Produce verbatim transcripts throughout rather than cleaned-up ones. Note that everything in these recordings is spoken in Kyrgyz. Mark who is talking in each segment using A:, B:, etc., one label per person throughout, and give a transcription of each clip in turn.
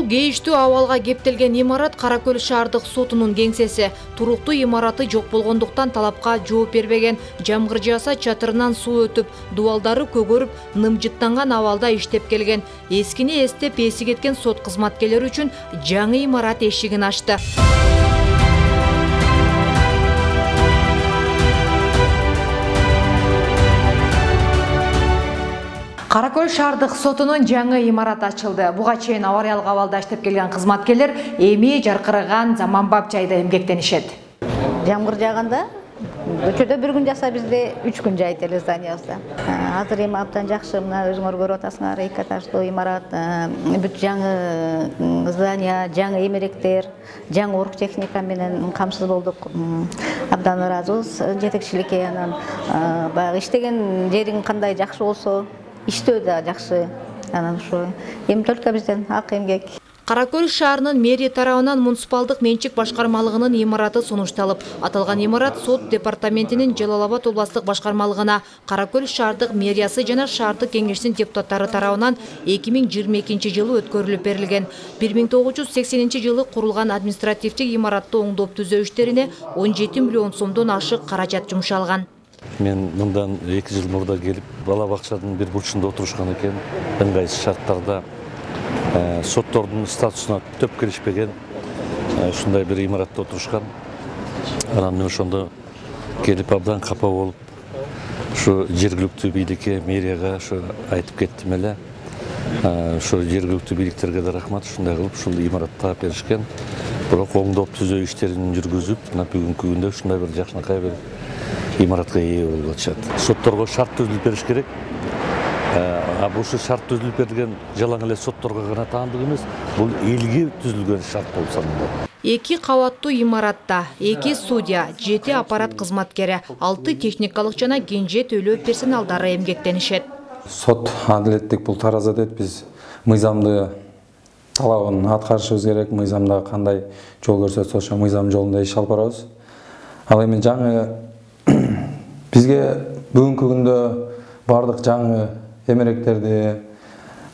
A: кейиштүү абалга кептелген имарат Кара Көл шаардык сотунун кеңсеси. Туруктуу имараты жок болгондуктан талапка жооп бербеген. Жамгыр жааса чатырынан суу өтүп, дубалдары көгөрүп, нымжыттанган абалда иштеп келген. Эскини эстеп эси кеткен сот кызматкерлери үчүн жаңы имарат эшигин ачты. Кара Көл шаардык сотунун жаңы имараты ачылды. Буга чейин авариялык абалда иштеп келген кызматкерлер эми жаркыраган заманбап жайда эмгектенишет.
B: Жамгыр жааганда көчөдө бир күн жаса, бизде үч күн жайыт эле зданиябызда. Азыр эми абдан жакшы, мына өзүңөр көрүп атасыңар, эки этаждуу имарат, бүт жаңы здания, жаңы эмеректер, жаңы оргтехника менен камсыз болдук. Абдан ыраазыбыз жетекчиликке, анан баягы иштеген жериң кандай жакшы болсо, иштөө да жакшы. Анан ушу эми только бизден ак эмгек.
A: Кара Көл шаарынын мэрия тарабынан муниципалдык менчик башкармалыгынын имараты сунушталып, аталган имарат сот департаментинин Жалал Абад областык башкармалыгына, Кара Көл шаардык мэриясы жана шаардык кеңештин депутаттары тарабынан эки миң жыйырма экинчи жылы өткөрүлүп берилген. бир миң тогуз жүз сексенинчи жылы курулган административдик имаратты оңдоп түзөө иштерине он жети миллион сомдон ашык каражат жумшалган.
C: Мен мындан эки жыл мурда келип, бала бакчанын бир бурчунда отурушкан экен. Ыңгайсыз шарттарда соттордун статусуна төп келишпеген ушундай бир имаратта отурушкан. Анан мен ошондо келип абдан капа болуп, ушу жергиликтүү бийликке, мэрияга ушу айтып кеттим эле. Ушу жергиликтүү бийликтерге да рахмат, ушундай кылып ушул имаратта беришкен. Бирок оңдоп түзөө иштерин жүргүзүп, мына бүгүнкү күндө ушундай бир жакшынакай бир имаратка ээ болуп атышат. Сотторго шарт түзүлүп бериш керек. А бул шарт түзүлүп берилген жалаң эле сотторго гана таандык эмес, бул элге түзүлгөн шарт болуп саналат.
A: Эки кабаттуу имаратта эки судья, жети аппарат кызматкери, алты техникалык жана кенже төлөө персоналдары эмгектенишет.
D: Сот адилеттик бул тараза дейт. Биз мыйзамды талабын аткарышыбыз керек. Мыйзамда кандай жол көрсөтсө, ошо мыйзам жолунда иш алып барабыз. Ал эми жаңы бизге бүгүнкү күндө бардык жаңы эмеректерди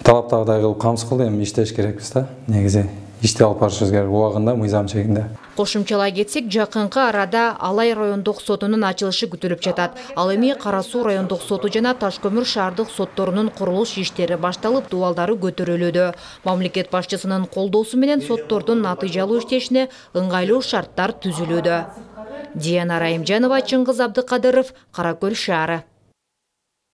D: талаптагыдай кылып камсыз кылды, эми иштеш керекпиз да. Негизи ишти алып барышыбыз керек убагында, мыйзам чегинде.
A: Кошумчалай кетсек, жакынкы арада Алай райондук сотунун ачылышы күтүлүп жатат. Ал эми Кара Суу райондук соту жана Таш көмүр шаардык сотторунун курулуш иштери башталып, дубалдары көтөрүлүүдө. Мамлекет башчысынын колдоосу менен соттордун натыйжалуу иштешине ыңгайлуу шарттар түзүлүүдө. Диана Райымжанова, Чыңгыз Абдыкадыров, Кара Көл шаары.